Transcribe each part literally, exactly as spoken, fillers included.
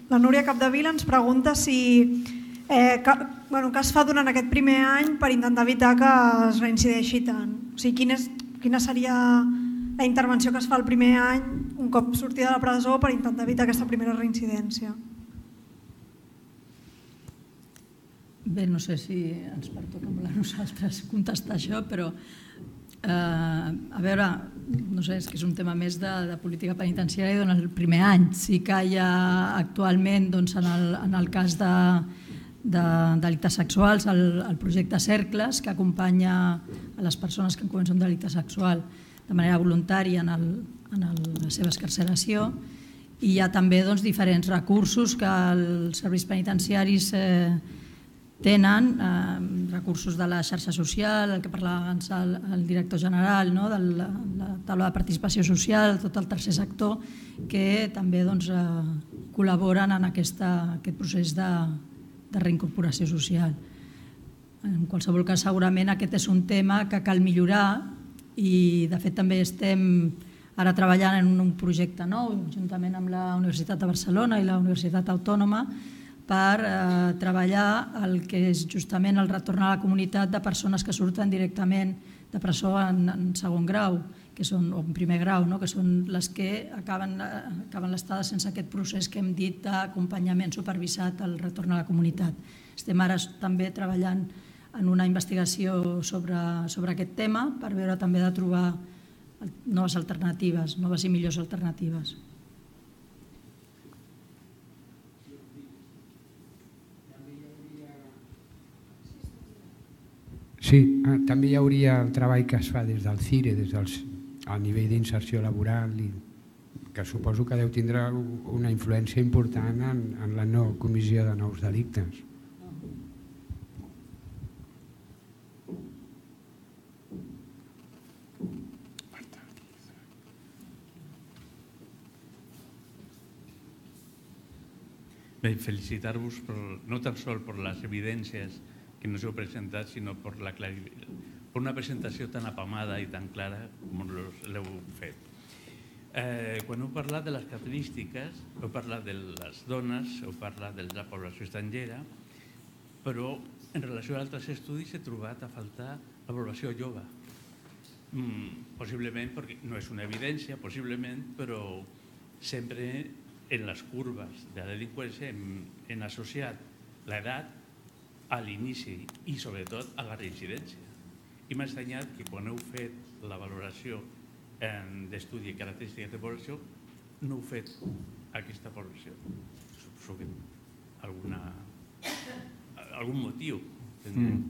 La Núria Capdevila ens pregunta si eh, que, bueno, què es fa durant aquest primer any per intentar evitar que es reincideixi tant. O sigui, quin és, quina seria la intervenció que es fa el primer any un cop sortir de la presó per intentar evitar aquesta primera reincidència? Bé, no sé si ens pertoca a nosaltres contestar això, però eh, a veure, no sé, és que és un tema més de, de política penitenciària durant el primer any. Sí que hi ha actualment, doncs, en, el, en el cas de, de delictes sexuals, el, el projecte Cercles, que acompanya a les persones que han comès un delicte sexual de manera voluntària en, el, en el, la seva excarceració, i hi ha també doncs, diferents recursos que els serveis penitenciaris eh, tenen, eh, recursos de la xarxa social, el que parlava abans el, el director general, no? de la, la taula de participació social, tot el tercer sector, que també doncs, eh, col·laboren en aquesta, aquest procés de, de reincorporació social. En qualsevol cas, segurament aquest és un tema que cal millorar i, de fet, també estem ara treballant en un projecte nou, juntament amb la Universitat de Barcelona i la Universitat Autònoma, per eh, treballar el que és justament el retorn a la comunitat de persones que surten directament de presó en, en segon grau, que són, o en primer grau, no? que són les que acaben, acaben l'estada sense aquest procés que hem dit d'acompanyament supervisat al retorn a la comunitat. Estem ara també treballant en una investigació sobre, sobre aquest tema per veure també de trobar noves alternatives, noves i millors alternatives. Sí, també hi hauria el treball que es fa des del CIRE, des del el nivell d'inserció laboral, i que suposo que deu tindre una influència important en, en la no comissió de nous delictes. Bé, felicitar-vos no tan sols per les evidències que nos heu presentat, sinó per, la per una presentació tan apamada i tan clara com l'heu fet. Eh, quan heu parlat de les característiques, heu parlat de les dones, heu parlat de la població estrangera, però en relació a altres estudis he trobat a faltar la població jove. Mm, possiblement, perquè no és una evidència, possiblement, però sempre en les curves de la delinqüència hem, hem associat l'edat a l'inici i sobretot a la reincidència. I m'ha estranyat que quan heu fet la valoració d'estudi i característiques de població no heu fet aquesta població. Suposo que alguna, algun motiu. Mm.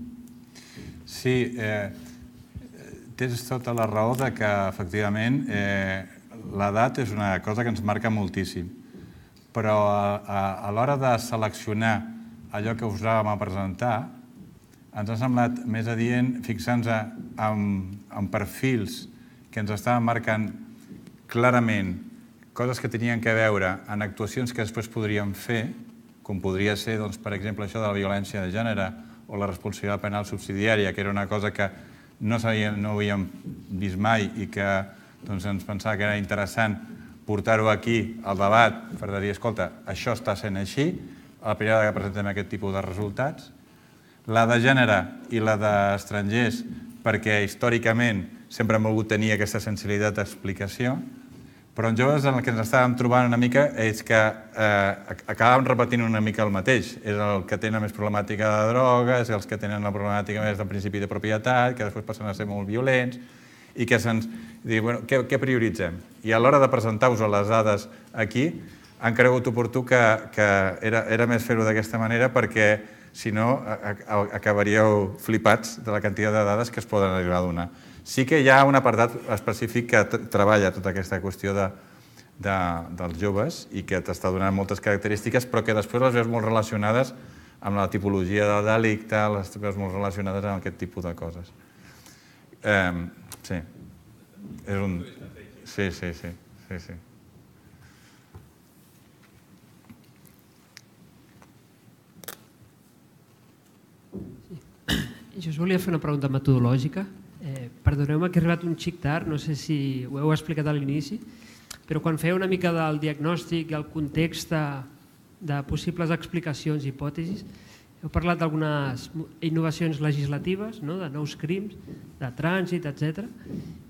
Sí, eh, tens tota la raó de que efectivament eh, l'edat és una cosa que ens marca moltíssim, però a, a, a l'hora de seleccionar allò que us anàvem a presentar, ens ha semblat més adient fixar-nos en, en perfils que ens estaven marcant clarament coses que tenien que veure en actuacions que després podríem fer, com podria ser, doncs, per exemple, això de la violència de gènere o la responsabilitat penal subsidiària, que era una cosa que no, no havíem vist mai i que doncs, ens pensava que era interessant portar-ho aquí al debat per dir, escolta, això està sent així, a la primera vegada que presentem aquest tipus de resultats. La de gènere i la d'estrangers, perquè històricament sempre hem volgut tenir aquesta sensibilitat d'explicació, però en joves en el que ens estàvem trobant una mica és que eh, acabàvem repetint una mica el mateix. És el que tenen més problemàtica de drogues, els que tenen la problemàtica més del principi de propietat, que després passen a ser molt violents, i que se'ns diu, bueno, què, què prioritzem? I a l'hora de presentar-vos les dades aquí, han cregut oportú que, que era, era més fer-ho d'aquesta manera perquè, si no, acabaríeu flipats de la quantitat de dades que es poden arribar a donar. Sí que hi ha un apartat específic que treballa tota aquesta qüestió de, de, dels joves i que t'està donant moltes característiques, però que després les veus molt relacionades amb la tipologia del delicte, les veus molt relacionades amb aquest tipus de coses. Eh, sí. És un... Sí, sí, sí. sí, sí. Jo us volia fer una pregunta metodològica. Eh, Perdoneu-me que he arribat un xic tard, no sé si ho heu explicat a l'inici, però quan feia una mica del diagnòstic i el context de possibles explicacions i hipòtesis, heu parlat d'algunes innovacions legislatives, de nous crims, de trànsit, etcètera.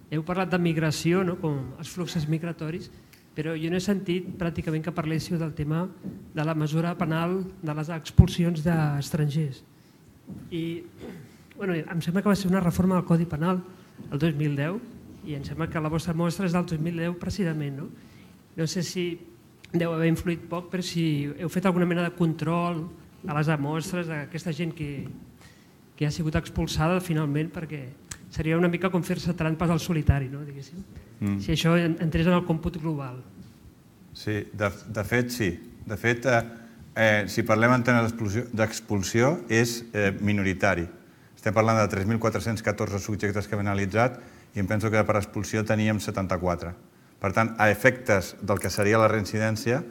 Heu parlat de migració, com els fluxos migratoris, però jo no he sentit pràcticament que parléssiu del tema de la mesura penal de les expulsions d'estrangers. I em sembla que va ser una reforma del Codi Penal el dos mil deu i em sembla que la vostra mostra és del dos mil deu precisament. No sé si deu haver influït poc, però si heu fet alguna mena de control a les mostres d'aquesta gent que ha sigut expulsada finalment, perquè seria una mica com fer-se trampes al solitari, diguéssim. Si això entrés en el còmput global. Sí, de fet sí. De fet, si parlem en temes d'expulsió, és minoritari. Estem parlant de tres mil quatre-cents catorze subjectes que hem analitzat i em penso que per expulsió teníem setanta-quatre. Per tant, a efectes del que seria la reincidència,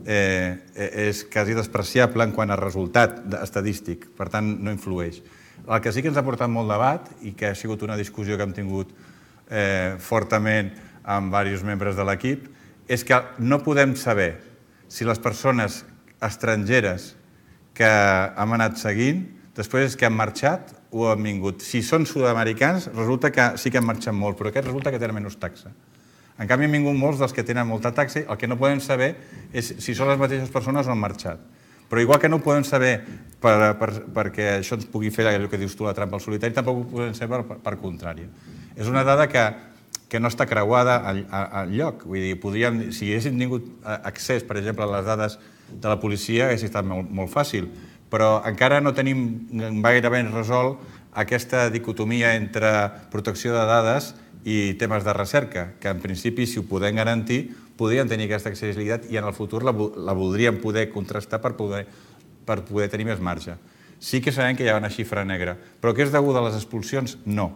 és quasi despreciable en quant a resultat estadístic. Per tant, no influeix. El que sí que ens ha portat molt debat i que ha sigut una discussió que hem tingut fortament amb diversos membres de l'equip, és que no podem saber si les persones estrangeres que hem anat seguint, després és que han marxat o han vingut. Si són sud-americans, resulta que sí que han marxat molt, però aquests resulta que tenen menys taxa. En canvi, han vingut molts dels que tenen molta taxa, el que no podem saber és si són les mateixes persones o han marxat. Però igual que no ho podem saber perquè això ens pugui fer allò que dius tu, la trampa al solitari, tampoc ho podem saber per contrària. És una dada que no està creuada al lloc. Vull dir, si haguéssim tingut accés, per exemple, a les dades de la policia, hauria estat molt fàcil, però encara no tenim gairebé resolt aquesta dicotomia entre protecció de dades i temes de recerca, que en principi, si ho podem garantir, podrien tenir aquesta accessibilitat i en el futur la voldríem poder contrastar per poder tenir més marge. Sí que sabem que hi ha una xifra negra, però que és deguda a les expulsions? No.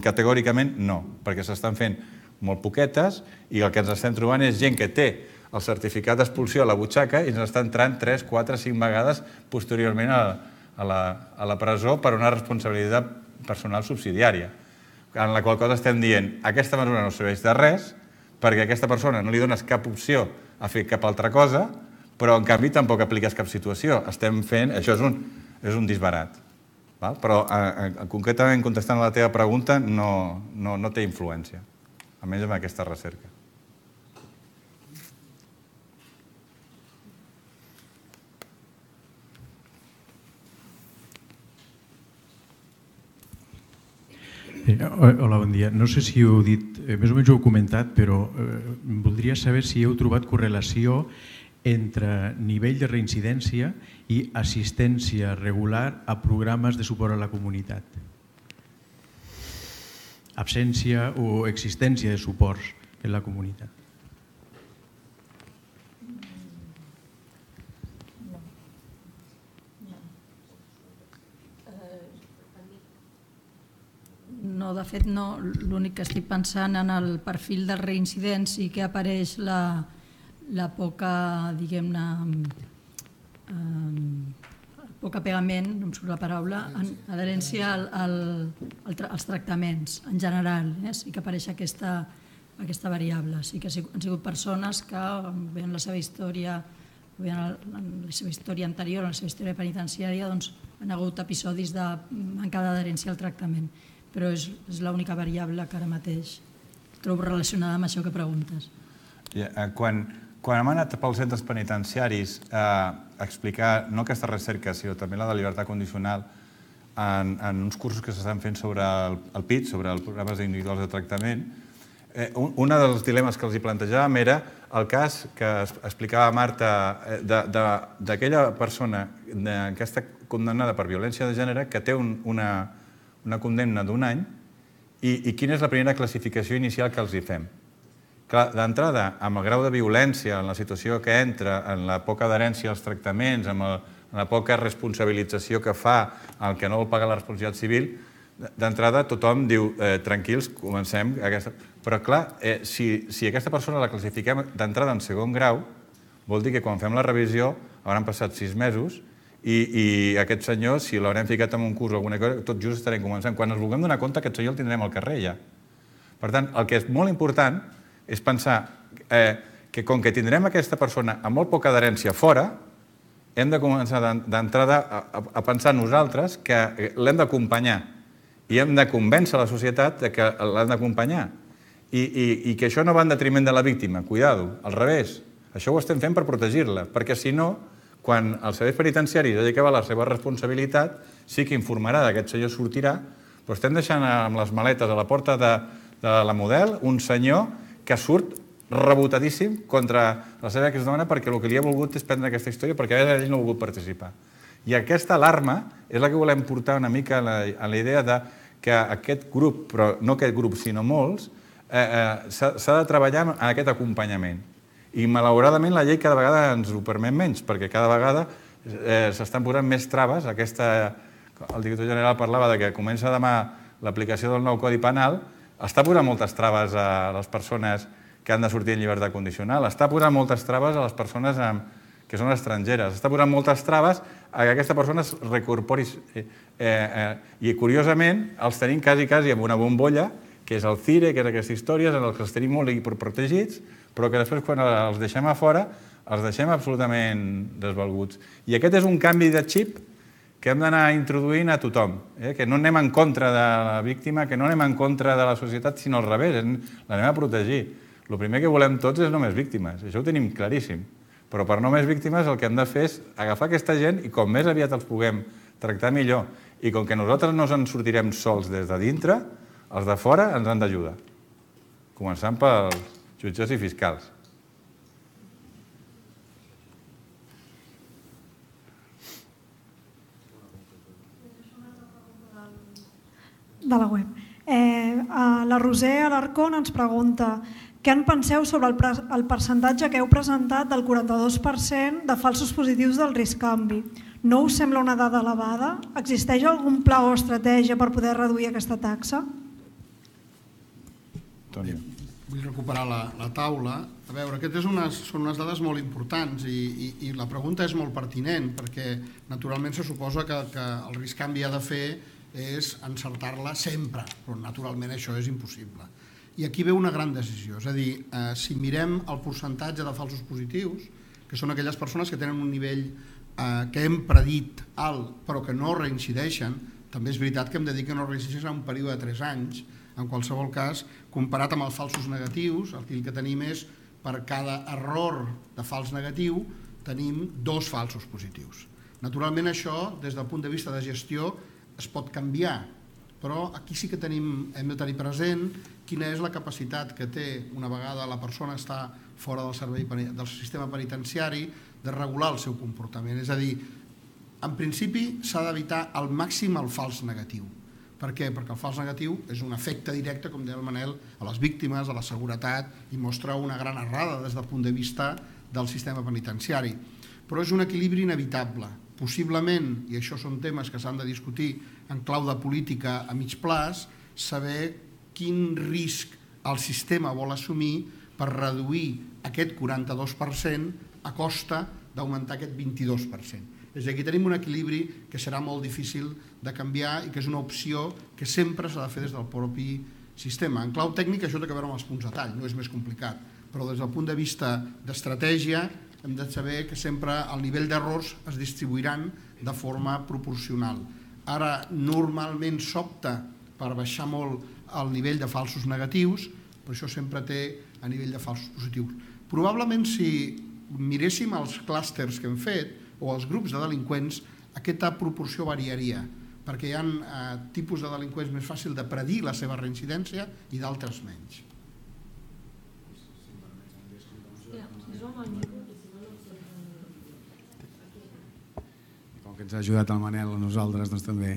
Categòricament no, perquè s'estan fent molt poquetes i el que ens estem trobant és gent que té el certificat d'expulsió a la butxaca i ens està entrant tres, quatre, cinc vegades posteriorment a la presó per una responsabilitat personal subsidiària, en la qual cosa estem dient aquesta mesura no serveix de res perquè a aquesta persona no li dones cap opció a fer cap altra cosa, però en canvi tampoc apliques cap situació. Estem fent... Això és un disbarat. Però concretament contestant a la teva pregunta no té influència, almenys amb aquesta recerca. Hola, bon dia. No sé si ho heu dit, més o menys ho heu comentat, però voldria saber si heu trobat correlació entre nivell de reincidència i assistència regular a programes de suport a la comunitat. Absència o existència de suports en la comunitat. No, de fet, no. L'únic que estic pensant en el perfil de reincidents i que apareix la, la poca, diguem-ne, eh, poc apegament, no em surt la paraula, en adherència al, al, als tractaments en general. Eh? Sí que apareix aquesta, aquesta variable. Sí que han sigut persones que veient la seva història, veient la seva història anterior, la seva història penitenciària, doncs, han hagut episodis de manca d'adherència al tractament. Però és l'única variable que ara mateix trobo relacionada amb això que preguntes. Quan hem anat pels centres penitenciaris a explicar no aquesta recerca, sinó també la de llibertat condicional en uns cursos que s'estan fent sobre el P I T, sobre els programes individuals de tractament, un dels dilemes que els hi plantejàvem era el cas que explicava Marta d'aquella persona que està condemnada per violència de gènere que té una una condemna d'un any i quina és la primera classificació inicial que els hi fem. D'entrada, amb el grau de violència, en la situació que entra, en la poca adherència als tractaments, amb la poca responsabilització que fa el que no vol pagar la responsabilitat civil, d'entrada tothom diu, tranquils, comencem aquesta... Però clar, si aquesta persona la classifiquem d'entrada en segon grau, vol dir que quan fem la revisió hauran passat sis mesos i aquest senyor, si l'haurem ficat en un curs o alguna cosa, tot just estarem començant. Quan ens vulguem donar compte, aquest senyor el tindrem al carrer ja. Per tant, el que és molt important és pensar que com que tindrem aquesta persona amb molt poca adherència fora, hem de començar d'entrada a pensar nosaltres que l'hem d'acompanyar i hem de convèncer la societat que l'hem d'acompanyar i que això no va en detriment de la víctima, cuidado, al revés. Això ho estem fent per protegir-la, perquè si no, quan els serveis penitenciaris hagi acabat la seva responsabilitat, sí que informarà d'aquest senyor sortirà, però estem deixant amb les maletes a la porta de la Model un senyor que surt rebotadíssim contra la seva exdona perquè el que li ha volgut és prendre aquesta història perquè ell no ha volgut participar. I aquesta alarma és la que volem portar una mica a la idea que aquest grup, però no aquest grup sinó molts, s'ha de treballar en aquest acompanyament. I malauradament la llei cada vegada ens ho permet menys perquè cada vegada s'estan posant més traves. El director general parlava que comença demà l'aplicació del nou Codi Penal, està posant moltes traves a les persones que han de sortir en llibertat condicional, està posant moltes traves a les persones que són estrangeres, està posant moltes traves a que aquesta persona es recorpori. I, curiosament, els tenim quasi, quasi amb una bombolla, que és el CIRE, que és aquestes històries en què els tenim molt protegits, però que després, quan els deixem a fora, els deixem absolutament desvalguts. I aquest és un canvi de xip que hem d'anar introduint a tothom, que no anem en contra de la víctima, que no anem en contra de la societat, sinó al revés, l'anem a protegir. El primer que volem tots és no més víctimes, això ho tenim claríssim. Però per no més víctimes el que hem de fer és agafar aquesta gent i com més aviat els puguem tractar millor. I com que nosaltres no ens sortirem sols des de dintre, els de fora ens han d'ajudar. Començant pels jutges i fiscals. De la web. La Roser Alarcón ens pregunta què en penseu sobre el percentatge que heu presentat del quaranta-dos per cent de falsos positius del risc-canvi. No us sembla una dada elevada? Existeix algun pla o estratègia per poder reduir aquesta taxa? Vull recuperar la taula. A veure, aquestes són unes dades molt importants i la pregunta és molt pertinent perquè naturalment se suposa que el risc-canvi ha de fer és encertar-la sempre, però naturalment això és impossible. I aquí ve una gran decisió, és a dir, si mirem el percentatge de falsos positius, que són aquelles persones que tenen un nivell que hem predit alt però que no reincideixen, també és veritat que hem de dir que no reincideixen en un període de tres anys, en qualsevol cas, comparat amb els falsos negatius, el que tenim és per cada error de fals negatiu tenim dos falsos positius. Naturalment això, des del punt de vista de gestió, es pot canviar, però aquí sí que hem de tenir present quina és la capacitat que té, una vegada la persona està fora del sistema penitenciari, de regular el seu comportament. És a dir, en principi s'ha d'evitar al màxim el fals negatiu. Per què? Perquè el fals negatiu és un efecte directe, com deia el Manel, a les víctimes, a la seguretat, i mostra una gran errada des del punt de vista del sistema penitenciari. Però és un equilibri inevitable. Possiblement, i això són temes que s'han de discutir en clau de política a mig plaç, saber quin risc el sistema vol assumir per reduir aquest quaranta-dos per cent a costa d'augmentar aquest vint-i-dos per cent. És a dir, aquí tenim un equilibri que serà molt difícil de canviar i que és una opció que sempre s'ha de fer des del propi sistema. En clau tècnica això té a veure amb els punts de tall, no és més complicat, però des del punt de vista d'estratègia hem de saber que sempre el nivell d'errors es distribuiran de forma proporcional. Ara, normalment s'opta per baixar molt el nivell de falsos negatius, però això sempre té a nivell de falsos positius. Probablement, si miréssim els clústers que hem fet o els grups de delinqüents, aquesta proporció variaria, perquè hi ha tipus de delinqüents més fàcil de predir la seva reincidència i d'altres menys. Com que ens ha ajudat el Manel a nosaltres, doncs també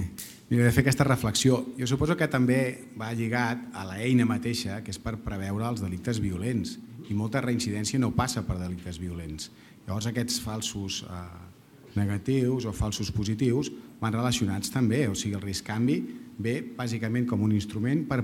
m'he de fer aquesta reflexió. Jo suposo que també va lligat a l'eina mateixa, que és per preveure els delictes violents, i molta reincidència no passa per delictes violents. Llavors aquests falsos negatius o falsos positius van relacionats també, o sigui, el risc-canvi ve bàsicament com un instrument per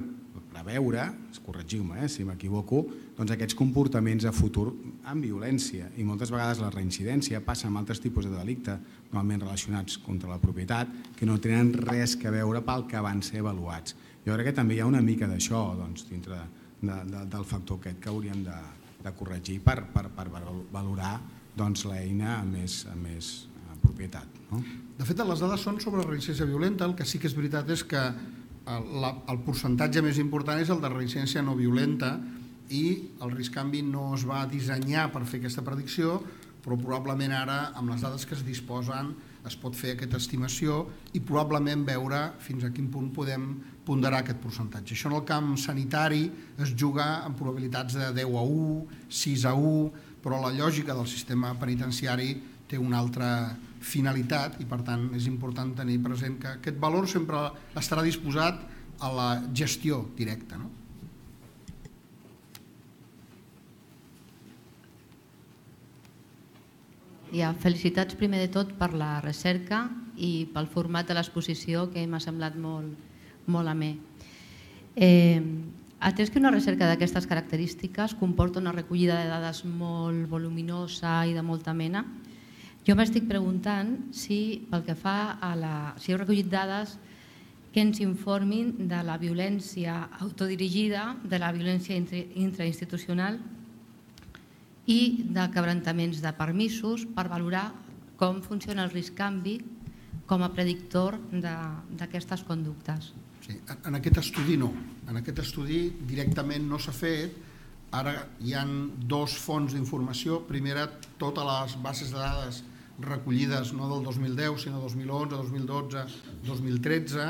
preveure, corregiu-me si m'equivoco, doncs aquests comportaments a futur amb violència, i moltes vegades la reincidència passa amb altres tipus de delicte, normalment relacionats contra la propietat, que no tenen res a veure pel que van ser avaluats. Jo crec que també hi ha una mica d'això dintre del factor aquest que hauríem de corregir per, per, per valorar doncs, l'eina amb més, amb més propietat. No? De fet, les dades són sobre reincidència violenta. El que sí que és veritat és que el, el percentatge més important és el de reincidència no violenta i el risc-canvi no es va dissenyar per fer aquesta predicció, però probablement ara, amb les dades que es disposen, es pot fer aquesta estimació i probablement veure fins a quin punt podem ponderar aquest percentatge. Això en el camp sanitari es juga amb probabilitats de deu a u, sis a u, però la lògica del sistema penitenciari té una altra finalitat i per tant és important tenir present que aquest valor sempre estarà disposat a la gestió directa. No? Ja, felicitats primer de tot per la recerca i pel format de l'exposició que m'ha semblat molt, molt amè. Eh, atès que una recerca d'aquestes característiques comporta una recollida de dades molt voluminosa i de molta mena, jo m'estic preguntant si pel que fa a la... si heu recollit dades que ens informin de la violència autodirigida, de la violència intrainstitucional i de quebrantaments de permisos per valorar com funciona el risc-canvi com a predictor d'aquestes conductes. Sí, en aquest estudi no. En aquest estudi directament no s'ha fet. Ara hi ha dos fonts d'informació. Primera, totes les bases de dades recollides no del dos mil deu, sinó dos mil onze, dos mil dotze, dos mil tretze,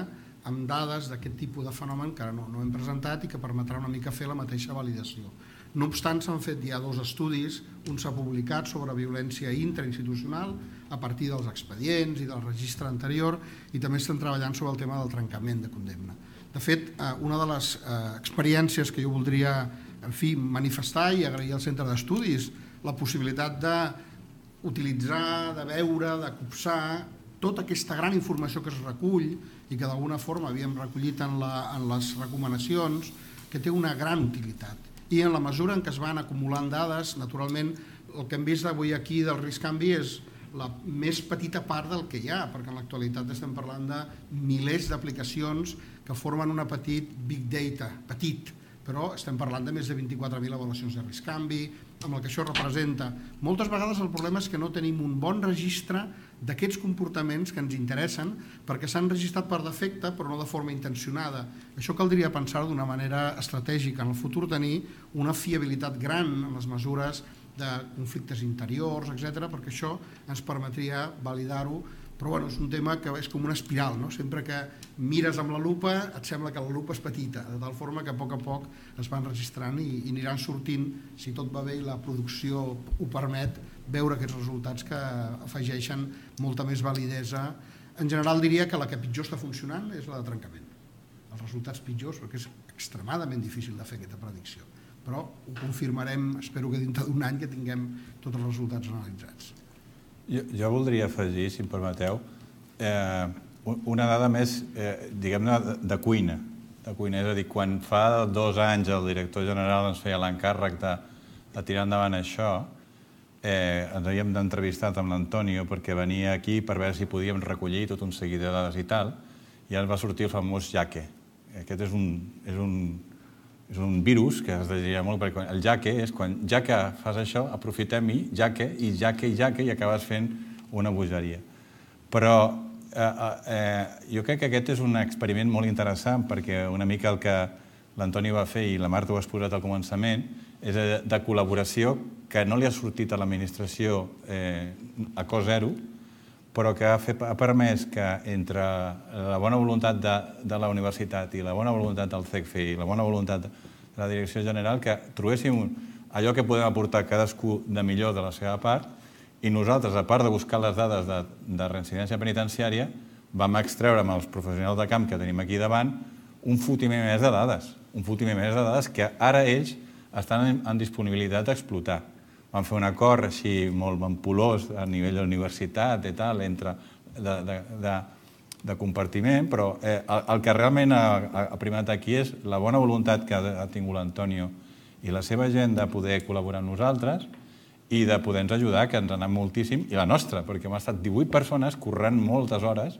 amb dades d'aquest tipus de fenomen que ara no, no hem presentat i que permetrà una mica fer la mateixa validació. No obstant, s'han fet ja dos estudis, un s'ha publicat sobre violència intrainstitucional a partir dels expedients i del registre anterior i també estem treballant sobre el tema del trencament de condemna. De fet, una de les experiències que jo voldria en fi, manifestar i agrair al Centre d'Estudis la possibilitat d'utilitzar, de veure, de copsar tota aquesta gran informació que es recull i que d'alguna forma havíem recollit en, la, en les recomanacions, que té una gran utilitat. I en la mesura en què es van acumulant dades, naturalment, el que hem vist avui aquí del risc-canvi és la més petita part del que hi ha, perquè en l'actualitat estem parlant de milers d'aplicacions que formen una petit big data, petit, però estem parlant de més de vint-i-quatre mil avaluacions de risc-canvi, amb el que això representa. Moltes vegades el problema és que no tenim un bon registre d'aquests comportaments que ens interessen perquè s'han registrat per defecte però no de forma intencionada. Això caldria pensar d'una manera estratègica. En el futur tenir una fiabilitat gran en les mesures de conflictes interiors, etcètera, perquè això ens permetria validar-ho. Però bueno, és un tema que és com una espiral, no? Sempre que mires amb la lupa et sembla que la lupa és petita, de tal forma que a poc a poc es van registrant i, i aniran sortint, si tot va bé i la producció ho permet, veure aquests resultats que afegeixen molta més validesa. En general diria que la que pitjor està funcionant és la de trencament. Els resultats pitjors, perquè és extremadament difícil de fer aquesta predicció. Però ho confirmarem, espero que dintre d'un any que tinguem tots els resultats analitzats. Jo, jo voldria afegir, si em permeteu, eh, una dada més, eh, diguem-ne, de, de cuina. De cuina. És a dir, quan fa dos anys el director general ens feia l'encàrrec de, de tirar endavant això, eh, ens havíem d'entrevistar amb l'Antonio perquè venia aquí per veure si podíem recollir tot un seguit de dades i tal, i ens va sortir el famós Jaque. Aquest és un, és un, és un virus que es diria molt, perquè el Jaque és quan ja que fas això, aprofitem-hi, Jaque, i Jaque, i Jaque, i acabes fent una bogeria. Però eh, eh, jo crec que aquest és un experiment molt interessant perquè una mica el que l'Antoni va fer i la Marta ho ha exposat al començament és de, de col·laboració que no li ha sortit a l'administració eh, a cost zero, però que ha, fet, ha permès que entre la bona voluntat de, de la universitat i la bona voluntat del C E C F i la bona voluntat de la Direcció General que trobéssim allò que podem aportar cadascú de millor de la seva part i nosaltres, a part de buscar les dades de, de reincidència penitenciària, vam extreure amb els professionals de camp que tenim aquí davant un fotimer més de dades, un fotimer més de dades que ara ells estan en, en disponibilitat d'explotar. Vam fer un acord així molt ampulós a nivell de la universitat i tal, entre de, de, de, de compartiment, però eh, el, el que realment ha, ha primat aquí és la bona voluntat que ha, ha tingut l'Antonio i la seva gent de poder col·laborar amb nosaltres i de poder-nos ajudar, que ens ha anat moltíssim, i la nostra, perquè hem estat divuit persones corrent moltes hores,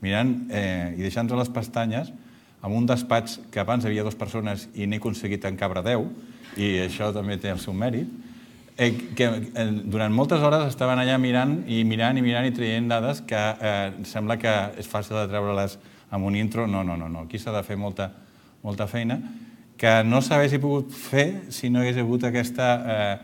mirant eh, i deixant-nos les pestanyes en un despatx que abans hi havia dues persones i n'he aconseguit encabre deu, i això també té el seu mèrit, que durant moltes hores estaven allà mirant i mirant i mirant i traient dades que sembla que és fàcil de treure-les amb un intro. No, no, no, aquí s'ha de fer molta feina que no s'hagués pogut fer si no hagués hagut aquesta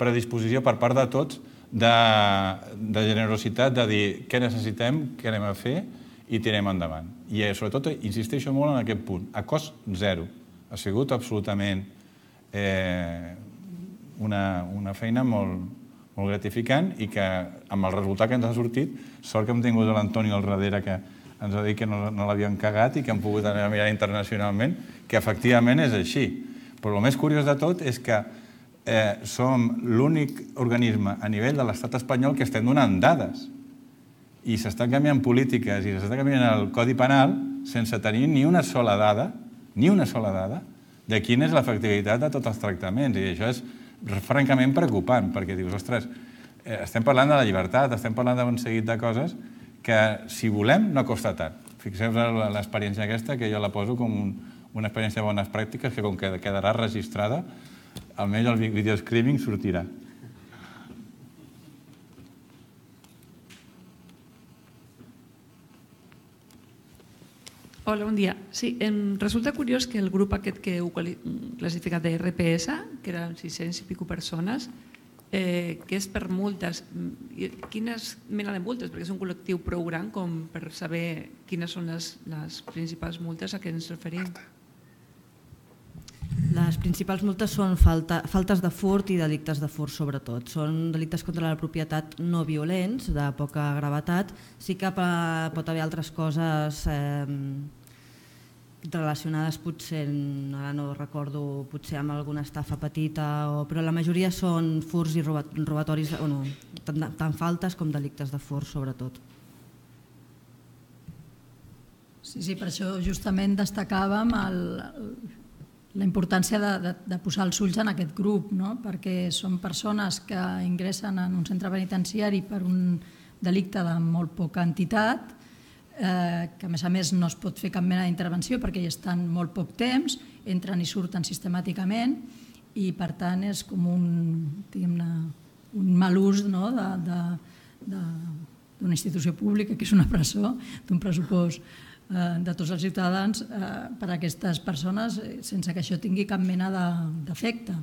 predisposició per part de tots de generositat, de dir què necessitem, què anem a fer i tirem endavant. I sobretot insisteixo molt en aquest punt, a cost zero. Ha sigut absolutament una feina molt gratificant i que amb el resultat que ens ha sortit, sort que hem tingut l'Antoni al darrere que ens ha dit que no l'havien cagat i que hem pogut anar a mirar internacionalment, que efectivament és així. Però el més curiós de tot és que som l'únic organisme a nivell de l'estat espanyol que estem donant dades i s'estan canviant polítiques i s'està canviant el Codi Penal sense tenir ni una sola dada, ni una sola dada, de quina és l'efectivitat de tots els tractaments. I això és francament preocupant, perquè dius, ostres, estem parlant de la llibertat, estem parlant d'un seguit de coses que, si volem, no costa tant. Fixeu-vos en l'experiència aquesta, que jo la poso com una experiència de bones pràctiques, que com que quedarà registrada, almenys el video streaming sortirà. Hola, bon dia. Sí, em resulta curiós que el grup aquest que heu classificat de R P S, que eren sis-cents i pico persones, que és per multes. Quines mena de multes? Perquè és un col·lectiu prou gran com per saber quines són les principals multes a què ens referim. Les principals multes són faltes de furt i delictes de furt, sobretot. Són delictes contra la propietat no violents, de poca gravetat. Sí que pot haver altres coses relacionades, potser, ara no recordo, potser amb alguna estafa petita, però la majoria són furts i robatoris, tant faltes com delictes de furt, sobretot. Sí, sí, per això justament destacàvem la importància de posar els ulls en aquest grup, perquè són persones que ingressen en un centre penitenciari per un delicte de molt poca entitat, que a més a més no es pot fer cap mena d'intervenció perquè hi estan molt poc temps, entren i surten sistemàticament i per tant és com un mal ús d'una institució pública que és una presó, d'un pressupost de tots els ciutadans per a aquestes persones sense que això tingui cap mena d'efecte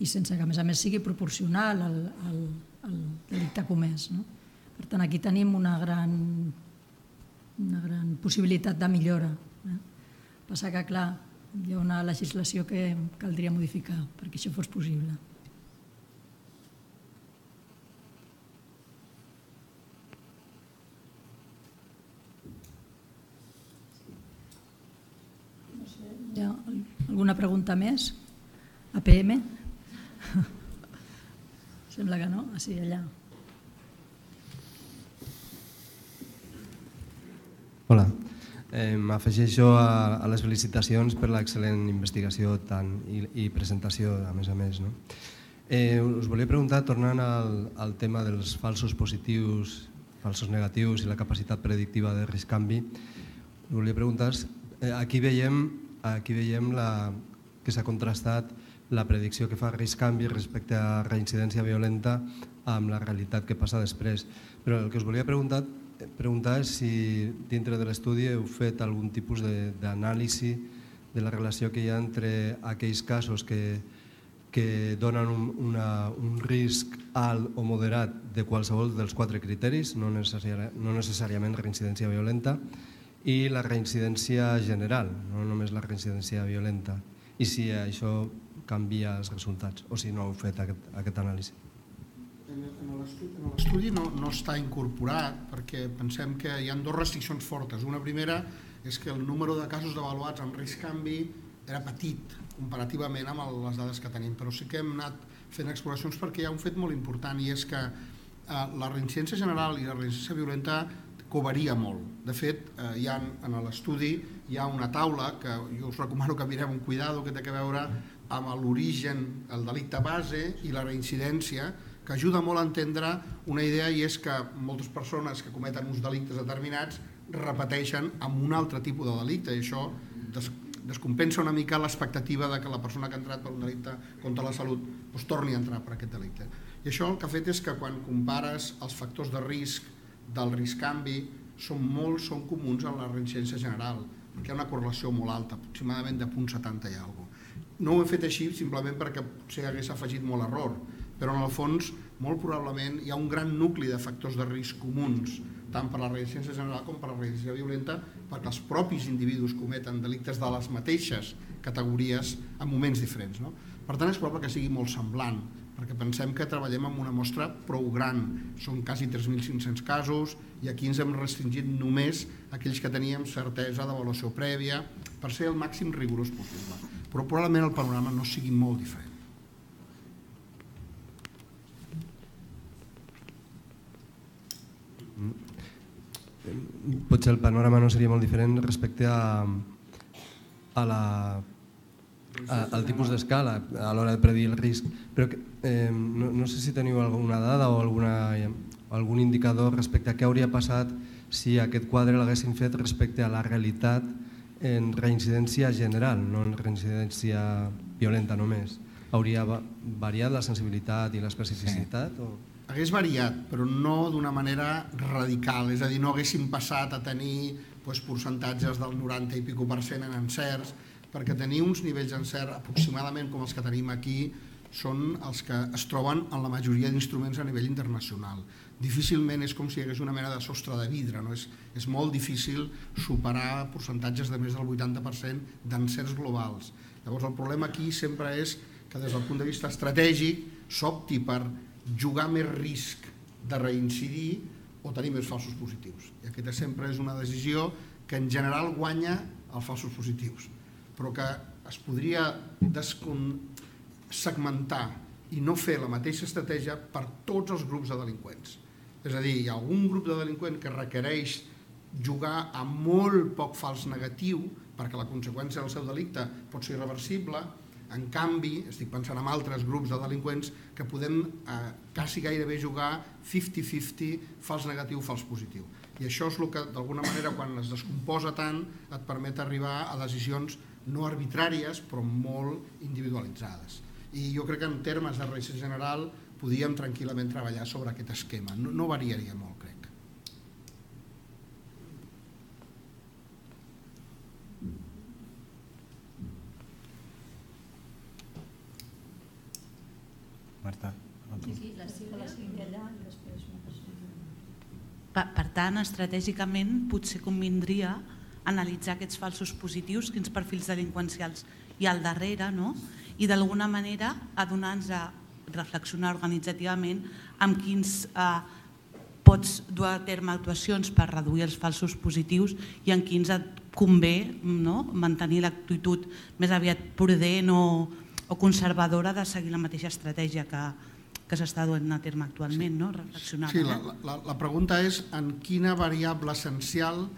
i sense que a més a més sigui proporcional al delicte comès. Per tant, aquí tenim una gran una gran possibilitat de millora. Passa que, clar, hi ha una legislació que caldria modificar perquè això fos possible. Hi ha alguna pregunta més? A P M? Sembla que no. Ah, sí, allà. Hola, m'afegeixo a les felicitacions per l'excel·lent investigació i presentació, a més a més. Us volia preguntar, tornant al tema dels falsos positius, falsos negatius i la capacitat predictiva de risc-canvi, us volia preguntar, aquí veiem que s'ha contrastat la predicció que fa risc-canvi respecte a reincidència violenta amb la realitat que passa després. Però el que us volia preguntar preguntar si dintre de l'estudi heu fet algun tipus d'anàlisi de la relació que hi ha entre aquells casos que donen un risc alt o moderat de qualsevol dels quatre criteris, no necessàriament reincidència violenta, i la reincidència general, no només la reincidència violenta, i si això canvia els resultats o si no heu fet aquest anàlisi. L'estudi no està incorporat perquè pensem que hi ha dues restriccions fortes. Una primera és que el número de casos avaluats amb risc-canvi era petit comparativament amb les dades que tenim, però sí que hem anat fent exploracions perquè hi ha un fet molt important i és que la reincidència general i la reincidència violenta covaria molt. De fet, en l'estudi hi ha una taula que jo us recomano que mireu amb cuidado, que té a veure amb l'origen, el delicte base i la reincidència, que ajuda molt a entendre una idea, i és que moltes persones que cometen uns delictes determinats repeteixen amb un altre tipus de delicte, i això des, descompensa una mica l'expectativa de que la persona que ha entrat per un delicte contra la salut doncs, torni a entrar per aquest delicte. I això el que ha fet és que quan compares els factors de risc del risc-canvi són molt, són comuns en la reincidència general, perquè hi ha una correlació molt alta, aproximadament de punt setanta i alguna cosa. No ho he fet així simplement perquè potser hagués afegit molt error, però en el fons molt probablement hi ha un gran nucli de factors de risc comuns, tant per la reincidència general com per la reincidència violenta, perquè els propis individus cometen delictes de les mateixes categories en moments diferents. No? Per tant, és probable que sigui molt semblant, perquè pensem que treballem amb una mostra prou gran, són quasi tres mil cinc-cents casos, i aquí ens hem restringit només aquells que teníem certesa d'avaluació prèvia per ser el màxim rigorós possible. Però probablement el panorama no sigui molt diferent. Potser el panorama no seria molt diferent respecte a, a la, a, al tipus d'escala a l'hora de predir el risc, però eh, no, no sé si teniu alguna dada o alguna, algun indicador respecte a què hauria passat si aquest quadre l'haguessin fet respecte a la realitat en reincidència general, no en reincidència violenta només. Hauria variat la sensibilitat i l'especificitat? Sí. O... Hagués variat, però no d'una manera radical, és a dir, no haguéssim passat a tenir doncs, percentatges del noranta i pico per cent en encerts, perquè tenir uns nivells d'encert aproximadament com els que tenim aquí són els que es troben en la majoria d'instruments a nivell internacional. Difícilment és com si hi hagués una mena de sostre de vidre, no? és, és molt difícil superar percentatges de més del vuitanta per cent d'encerts globals. Llavors el problema aquí sempre és que des del punt de vista estratègic s'opti per jugar més risc de reincidir o tenir més falsos positius. I aquesta sempre és una decisió que en general guanya els falsos positius, però que es podria segmentar i no fer la mateixa estratègia per tots els grups de delinqüents. És a dir, hi ha algun grup de delinqüent que requereix jugar amb molt poc fals negatiu perquè la conseqüència del seu delicte pot ser irreversible. En canvi, estic pensant en altres grups de delinqüents que podem eh, quasi gairebé jugar cinquanta cinquanta fals negatiu, fals positiu. I això és el que, d'alguna manera, quan es descomposa tant, et permet arribar a decisions no arbitràries, però molt individualitzades. I jo crec que en termes de reincidència general podíem tranquil·lament treballar sobre aquest esquema. No, no variaria molt, crec. Marta. Sí, sí, la Sílvia allà i després una persona. Per, per tant, estratègicament potser convindria analitzar aquests falsos positius, quins perfils delinqüencials hi ha al darrere, no? I d'alguna manera adonar-nos a reflexionar organitzativament amb quins eh, pots dur a terme actuacions per reduir els falsos positius i en quins et convé, no? Mantenir l'actitud més aviat prudent o, o conservadora de seguir la mateixa estratègia que, que s'està duent a terme actualment, no? Reflexionar. Sí, la, la, la pregunta és en quina variable essencial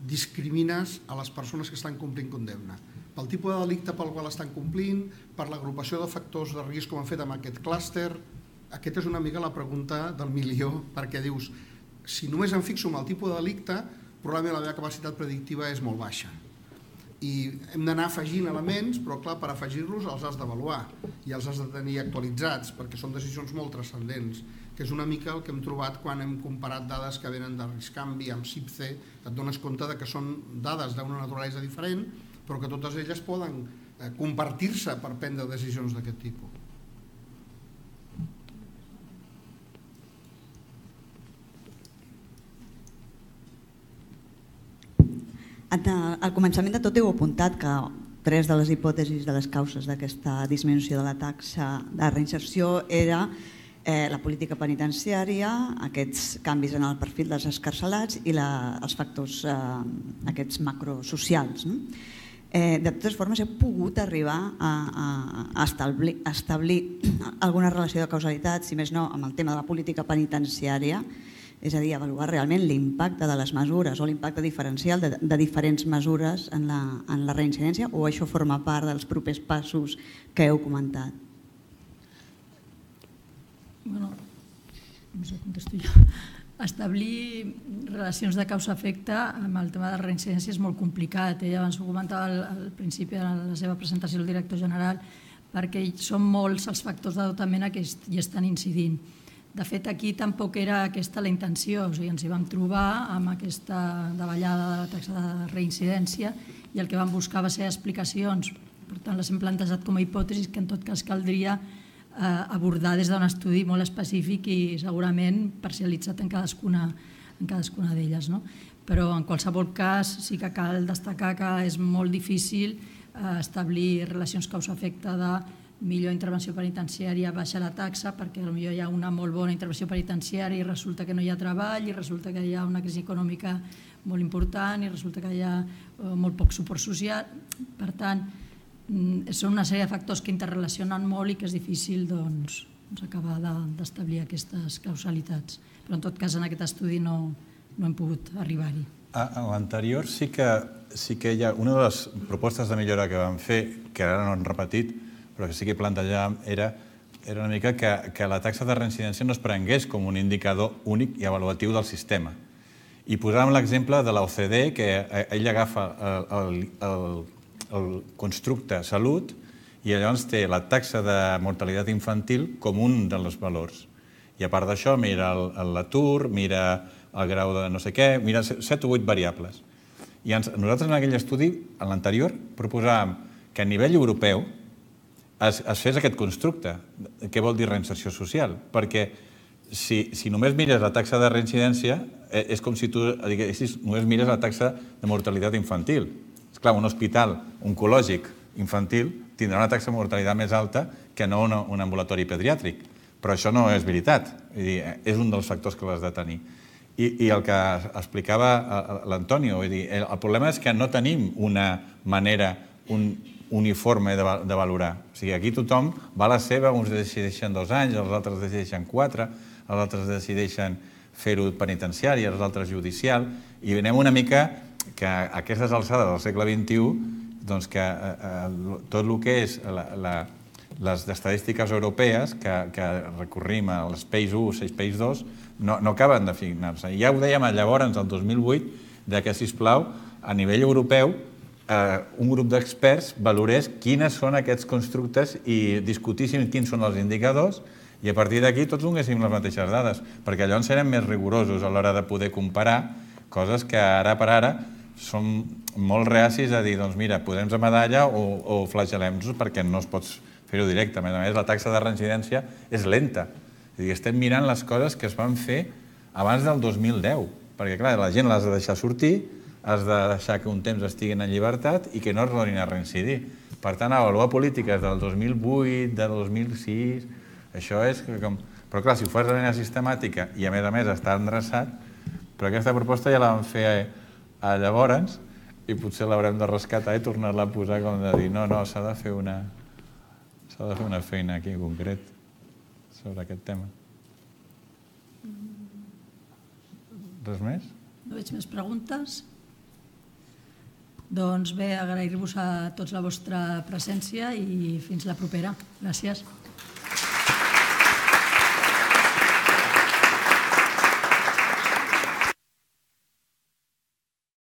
discrimines a les persones que estan complint condemna. Pel tipus de delicte pel qual estan complint, per l'agrupació de factors de risc com han fet amb aquest clúster. Aquesta és una mica la pregunta del milió, perquè dius, si només em fixo en el tipus de delicte, probablement la meva capacitat predictiva és molt baixa. I hem d'anar afegint elements, però clar, per afegir-los els has d'avaluar i els has de tenir actualitzats, perquè són decisions molt transcendents, que és una mica el que hem trobat quan hem comparat dades que venen de risc-canvi amb CIPCE, et dones compte que són dades d'una naturalesa diferent, però que totes elles poden compartir-se per prendre decisions d'aquest tipus. Al començament de tot heu apuntat que tres de les hipòtesis de les causes d'aquesta disminució de la taxa de reinserció era eh, la política penitenciària, aquests canvis en el perfil dels excarcelats i la, els factors eh, aquests macrosocials. No? Eh, de totes formes, heu pogut arribar a, a, a, establir, a establir alguna relació de causalitat, si més no, amb el tema de la política penitenciària, és a dir, avaluar realment l'impacte de les mesures o l'impacte diferencial de, de diferents mesures en la, en la reincidència, o això forma part dels propers passos que heu comentat? Bueno, no sé, contesto jo. establir relacions de causa-efecte amb el tema de la reincidència és molt complicat. Ella abans ho comentava al principi de la seva presentació el director general, perquè són molts els factors de tota mena que hi estan incidint. De fet, aquí tampoc era aquesta la intenció, o sigui, ens hi vam trobar amb aquesta davallada de la taxa de reincidència i el que vam buscar va ser explicacions. Per tant, les hem plantejat com a hipòtesis que en tot cas caldria abordar des d'un estudi molt específic i segurament parcialitzat en cadascuna, en cadascuna d'elles. Però en qualsevol cas sí que cal destacar que és molt difícil establir relacions causa-efecte de millor intervenció penitenciària, baixa la taxa, perquè potser hi ha una molt bona intervenció penitenciària i resulta que no hi ha treball, i resulta que hi ha una crisi econòmica molt important, i resulta que hi ha molt poc suport social. Per tant, són una sèrie de factors que interrelacionen molt i que és difícil acabar d'establir aquestes causalitats. Però en tot cas, en aquest estudi no hem pogut arribar-hi. A l'anterior sí que hi ha una de les propostes de millora que vam fer, que ara no han repetit, però que sí que plantejàvem, era una mica que la taxa de reincidència no es prengués com un indicador únic i avaluatiu del sistema. I posàvem l'exemple de l'O C D E, que ell agafa el constructe salut i llavors té la taxa de mortalitat infantil com un dels valors. I a part d'això mira l'atur, mira el grau de no sé què, mira set o vuit variables. I nosaltres en aquell estudi, en l'anterior, proposàvem que a nivell europeu es fes aquest constructe. Què vol dir reinserció social? Perquè si només mires la taxa de reincidència, és com si tu només mires la taxa de mortalitat infantil. Esclar, un hospital oncològic infantil tindrà una taxa de mortalitat més alta que no un ambulatori pediàtric. Però això no és veritat. És un dels factors que l'has de tenir. I el que explicava l'Antonio, el problema és que no tenim una manera uniforme de valorar. O sigui, aquí tothom va a la seva, uns decideixen dos anys, els altres decideixen quatre, els altres decideixen fer-ho penitenciari, els altres judicial, i veiem una mica que a aquestes alçades del segle vint-i-u, doncs que tot el que és les estadístiques europees, que recorrim a l'Space u, Space dos, no acaben de finar-se. I ja ho dèiem llavors, el dos mil vuit, que, sisplau, a nivell europeu, un grup d'experts valorés quines són aquests constructes i discutíssim quins són els indicadors i a partir d'aquí tots donéssim les mateixes dades, perquè llavors serem més rigorosos a l'hora de poder comparar coses que ara per ara som molt reacis a dir, doncs mira, posem-nos a medalla o flagel·lem-nos perquè no es pot fer-ho directe. A més a més, la taxa de reincidència és lenta. Estem mirant les coses que es van fer abans del dos mil deu, perquè clar, la gent l'has de deixar sortir, has de deixar que un temps estiguin en llibertat i que no es donin a reincidir. Per tant, avaluar polítiques del dos mil vuit, del dos mil sis, això és com... Però clar, si ho fas de manera sistemàtica i a més a més està endreçat, però aquesta proposta ja la vam fer a llavors i potser l'haurem de rescatar i tornar-la a posar com de dir no, no, s'ha de fer una s'ha de fer una feina aquí en concret sobre aquest tema. Res més? No veig més preguntes? Doncs bé, agrair-vos a tots la vostra presència i fins la propera. Gràcies.